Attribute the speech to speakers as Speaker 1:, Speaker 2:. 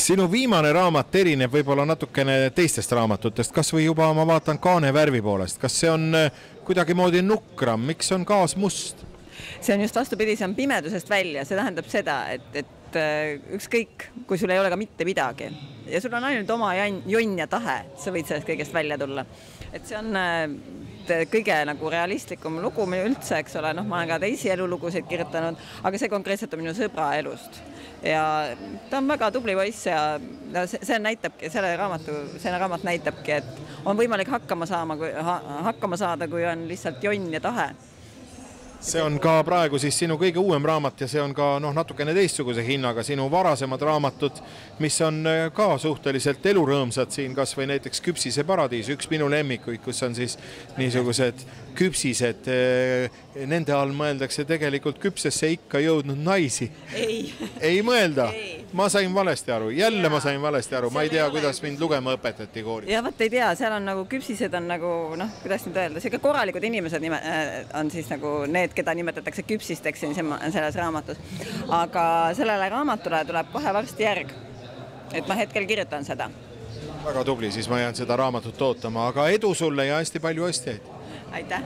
Speaker 1: Sinu viimane raamat erineb võib-olla natukene teistest raamatutest, kas või juba ma vaatan kaane värvi poolest, kas see on kuidagimoodi nukram, miks on kaas must?
Speaker 2: See on just vastupidi, see on pimedusest välja, see tähendab seda, et ükskõik, kui sul ei ole ka mitte midagi ja sul on ainult oma jonn ja tahe, sa võid sellest kõigest välja tulla. Et see on kõige nagu realistlikum lugu üldse, eks ole, ma olen ka teisi elulugusid kirjutanud, aga see konkreetselt on minu sõbra elust. Ja ta on väga tubli poiss ja see näitabki, selle raamat näitabki, et on võimalik hakkama saada, kui on lihtsalt jonn ja tahe.
Speaker 1: See on ka praegu siis sinu kõige uuem raamat ja see on ka natukene teistsuguse hinnaga sinu varasemad raamatud, mis on ka suhteliselt elurõõmsad siin, kas või näiteks Küpsise paradiis, üks minu lemmikuid, kus on siis niisugused küpsised, nende all mõeldakse tegelikult küpsesse ikka jõudnud naisi. Ei mõelda? Ma sain valesti aru, ma sain valesti aru, ma ei tea, kuidas mind lugema õpetati koolis.
Speaker 2: Ja võt ei tea, seal on nagu küpsised on nagu, kuidas nüüd öelda, see korralikud inimesed on siis nagu need, keda nimetatakse küpsisteks selles raamatus. Aga sellele raamatule tuleb kohe varsti järg, et ma hetkel kirjutan seda.
Speaker 1: Väga tubli, siis ma jään seda raamatut ootama, aga edu sulle ja hästi palju ostjaid.
Speaker 2: Aitäh!